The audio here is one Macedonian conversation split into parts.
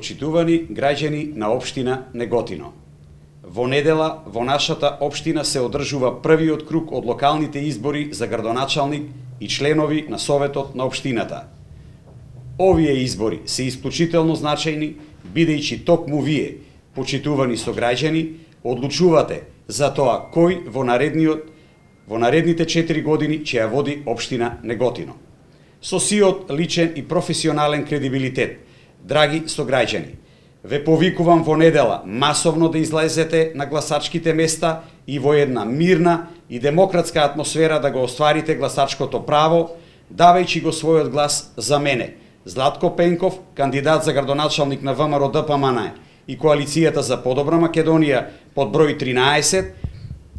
Почитувани граѓани на општина Неготино. Во недела во нашата општина се одржува првиот круг од локалните избори за градоначалник и членови на Советот на општината. Овие избори се исклучително значајни, бидејќи токму вие, почитувани сограѓани, одлучувате за тоа кој во наредните 4 години ќе ја води општина Неготино. Со сиот личен и професионален кредибилитет, драги сограѓани, ве повикувам во недела масовно да излезете на гласачките места и во една мирна и демократска атмосфера да го остварите гласачкото право, давајќи го својот глас за мене, Златко Пенков, кандидат за градоначалник на ВМРО ДПМН и Коалицијата за подобра Македонија под број 13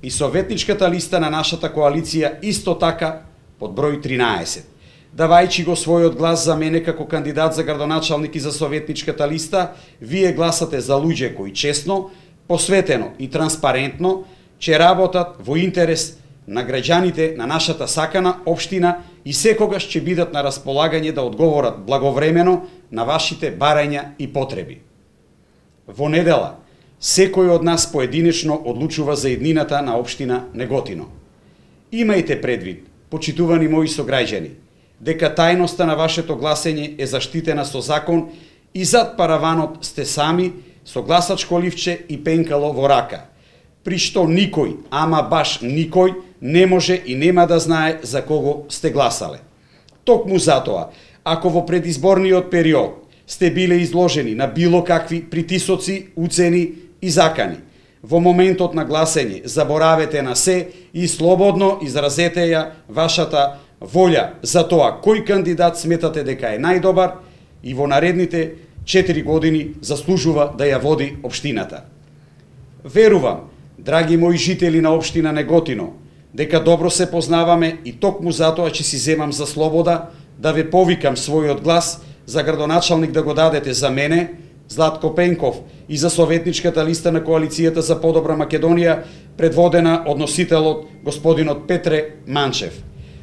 и советничката листа на нашата коалиција исто така под број 13. Давајќи го својот глас за мене како кандидат за градоначалник и за советничката листа, вие гласате за луѓе кои честно, посветено и транспарентно ќе работат во интерес на граѓаните на нашата сакана општина и секогаш ќе бидат на располагање да одговорат благовремено на вашите барања и потреби. Во недела, секој од нас поединечно одлучува за иднината на општина Неготино. Имајте предвид, почитувани мои сограѓани, дека тајноста на вашето гласење е заштитена со закон и зад параванот сте сами со гласачко ливче и пенкало во рака, при што никој, ама баш никој, не може и нема да знае за кого сте гласале. Токму затоа, ако во предизборниот период сте биле изложени на било какви притисоци, уцени и закани, во моментот на гласење заборавете на се и слободно изразете ја вашата волја за тоа кој кандидат сметате дека е најдобар и во наредните 4 години заслужува да ја води општината. Верувам, драги мои жители на општина Неготино, дека добро се познаваме и токму затоа ќе си земам за слобода да ве повикам својот глас за градоначалник да го дадете за мене, Златко Пенков, и за советничката листа на Коалицијата за подобра Македонија, предводена од носителот господинот Петре Манчев.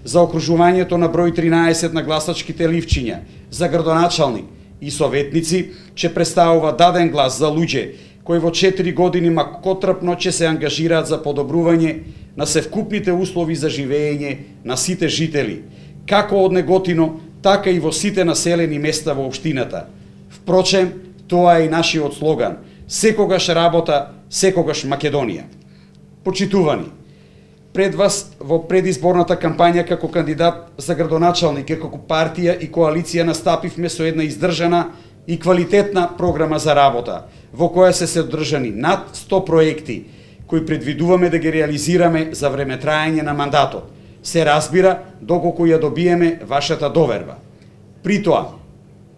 За окружувањето на број 13 на гласачките ливчиња, за градоначалник и советници, ќе представува даден глас за луѓе кои во 4 години макотрпно ќе се ангажираат за подобрување на севкупните услови за живење на сите жители, како од Неготино, така и во сите населени места во општината. Впрочем, тоа е и нашиот слоган: секогаш работа, секогаш Македонија. Почитувани, пред вас во предизборната кампања како кандидат за градоначалник и како партија и коалиција настапивме со една издржана и квалитетна програма за работа, во која се содржани над 100 проекти кои предвидуваме да ги реализираме за време трајање на мандатот. Се разбира, доколку ја добиеме вашата доверба. При тоа,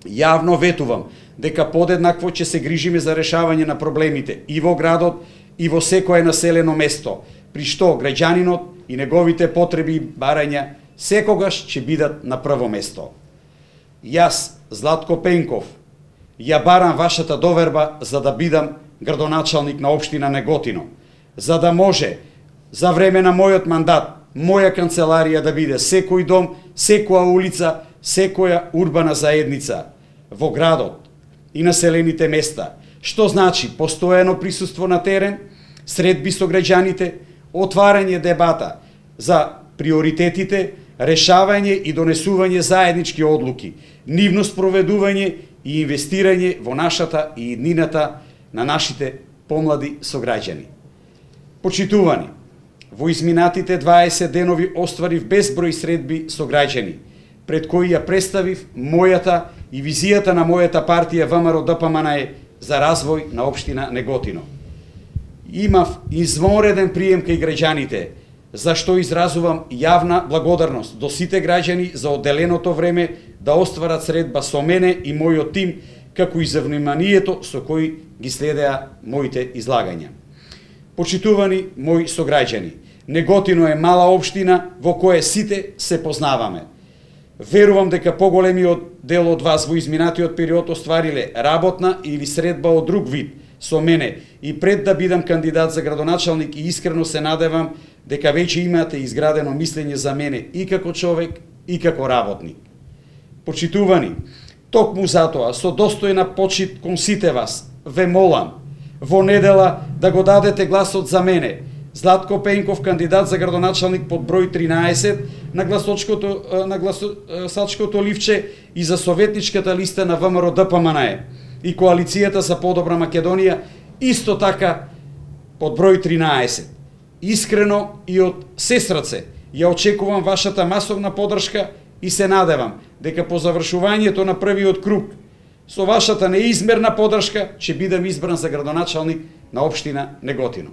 јавно ветувам дека подеднакво ќе се грижиме за решавање на проблемите и во градот и во секое населено место, при што граѓанинот и неговите потреби и барања секогаш ќе бидат на прво место. Јас, Златко Пенков, ја барам вашата доверба за да бидам градоначалник на општина Неготино, за да може за време на мојот мандат моја канцеларија да биде секој дом, секоја улица, секоја урбана заедница во градот и населените места, што значи постојано присуство на терен, средби со граѓаните, отварање дебата за приоритетите, решавање и донесување заеднички одлуки, нивно спроведување и инвестирање во нашата и иднината на нашите помлади сограѓани. Почитувани, во изминатите 20 денови остварив безброј средби со граѓани, пред кои ја представив мојата и визијата на мојата партија ВМРО ДПМН за развој на општина Неготино. Имав извонреден прием кај граѓаните, за што изразувам јавна благодарност до сите граѓани за одделеното време да остварат средба со мене и мојот тим, како и за вниманието со кој ги следеа моите излагања. Почитувани мои сограѓани, Неготино е мала општина во која сите се познаваме. Верувам дека поголемиот дел од вас во изминатиот период оствариле работна или средба од друг вид со мене и пред да бидам кандидат за градоначалник, и искрено се надевам дека веќе имате изградено мислење за мене и како човек и како работник. Почитувани, Токму затоа, со достојна почит кон сите вас, ве молам, во недела да го дадете гласот за мене, Златко Пенков, кандидат за градоначалник под број 13 на гласачкото ливче и за советничката листа на ВМРО ДПМНЕ и Коалицијата за подобра Македонија, исто така под број 13. Искрено и од се срце ја очекувам вашата масовна подршка и се надевам дека по завршувањето на првиот круг со вашата неизмерна подршка ќе бидам избран за градоначалник на општина Неготино.